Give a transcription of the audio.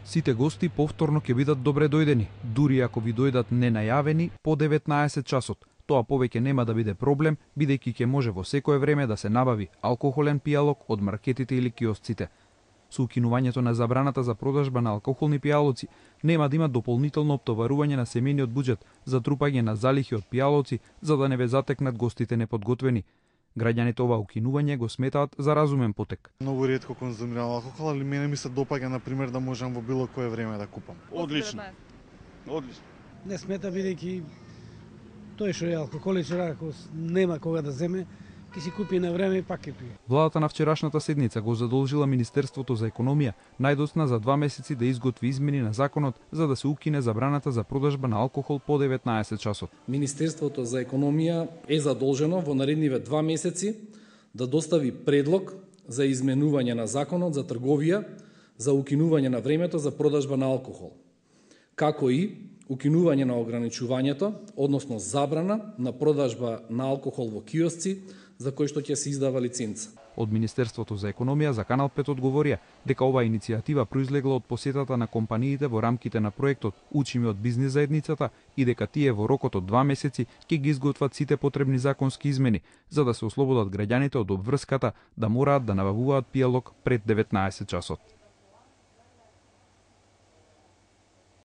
Сите гости повторно ќе бидат добре дојдени, дури ако ви дојдат ненајавени по 19 часот. Тоа повеќе нема да биде проблем, бидејќи ќе може во секое време да се набави алкохолен пијалок од маркетите или киосците. Со укинувањето на забраната за продажба на алкохолни пијалоци, нема да има дополнително оптоварување на семејниот буџет за трупање на залихи од пијалоци, за да не ве затекнат гостите неподготвени. Граѓаните ова укинување го сметаат за разумен потек. Многу ретко конзумирам алкохол, али мене ми се допаѓа на пример да можам во било кое време да купам. Одлично. Одлично. Не смета бидејќи тој што е алкохоличар, ако нема кога да земе, ќе си купи на време и пак ќе пие. Владата на вчерашната седница го задолжила Министерството за економија најдосна за 2 месеци да изготви измени на законот за да се укине забраната за продажба на алкохол по 19 часот. Министерството за економија е задолжено во наредниве 2 месеци да достави предлог за изменување на законот за трговија за укинување на времето за продажба на алкохол, како и укинување на ограничувањето, односно забрана на продажба на алкохол во киосци за кој што ќе се издава лиценца. Од Министерството за економија за Канал 5 одговорија дека оваа иницијатива произлегла од посетата на компаниите во рамките на проектот Учиме од бизнис заедницата и дека тие во рокот од 2 месеци ќе ги изготват сите потребни законски измени за да се ослободат граѓаните од обврската да мораат да набавуваат пијалок пред 19 часот.